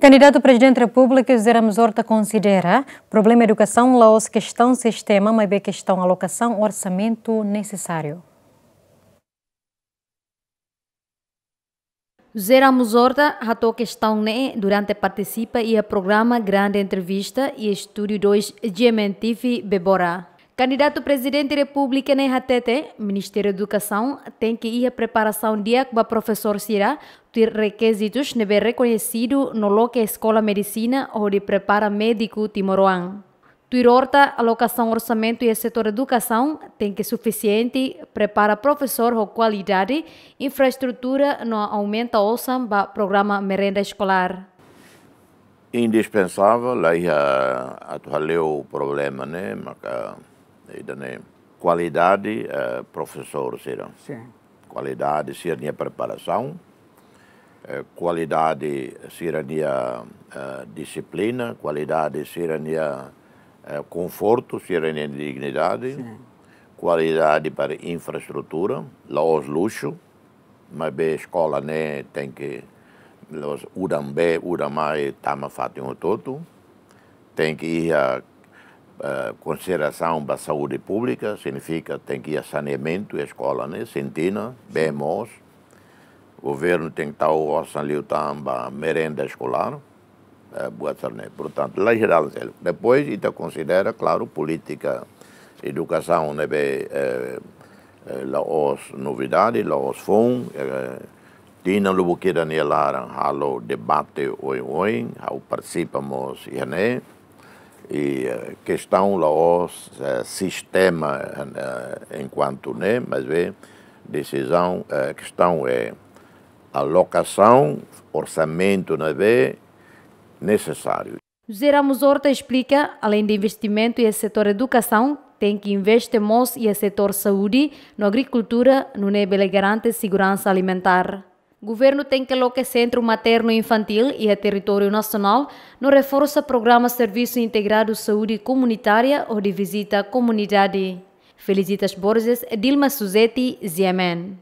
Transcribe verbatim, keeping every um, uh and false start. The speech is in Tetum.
Kandidatu Prezidente Repúblika José Ramos Horta konsidera problema edukasaun la'ós kestaun sistema, maibé kestaun alokasaun orsamentu nesesáriu. José Ramos Horta hato'o kestaun ne'e durante partisipa iha programa Grande Entrevista iha Estúdiu dois G M N T V Bebora. Kandidatu Prezidente Repúblika ne'e hatete, Ministériu Edukasaun tenke iha preparasaun di'ak ba profesór sira, tuir rekizitus ne'ebé rekoñesidu no loke eskola medisina hodi prepara médiku timoroan. Tuir Horta, alokasaun orsamentu iha setór edukasaun tenke sufisiente, prepara profesór ho kualidade, infraestrutura no aumenta osan ba programa merenda eskolár. Indispensável, la iha atu hale'u problema ne'e, maka ida-ne'e kualidade, eh, profesór sira. Sin. Kualidade sira-nia preparasaun, eh, kualidade sira-nia, eh, dixiplina, kualidade sira-nia, eh, konfortu, sira-nia dignidade, sin, kualidade para infraestrutura, la'ós luxu, maibé eskola ne'e tenke la'ós udan bee, udan mai, tama fatin hotu-hotu. Tenke iha, eh, konsiderasaun ba saúde públika, signifika tenke iha saneamentu, eskola ne'e, sintina, bee moos. Governu tenke tau osan liután ba merenda eskolár, eh, buat sira-ne'e. Portantu, la iha dalan seluk. Depois, ita konsidera, klaru, polítika edukasaun ne'ebé, eh, eh, la'ós novidade, la'ós foun, eh, tinan lubuk ida nia laran halo debate oioin, ha'u partisipa mós iha ne'e. I, eh, kestaun la'ós, eh, sistema, eh, enkuantu ne'e, maibé desizaun, eh, kestaun é alokasaun orsamentu ne'ebé nesesáriu. José Ramos Horta esplika, aleinde investimentu iha setór edukasaun, tenke investe mós iha setór saúde no agrikultura, nune'e bele garante seguransa alimentár. Governu tenke loke sentru maternu infantíl iha territóriu nasionál, no reforsa programa servisu integradu saúde komunitária hodi vizita komunidade. Felicitas Borges, Dilma Suzeti, G M N.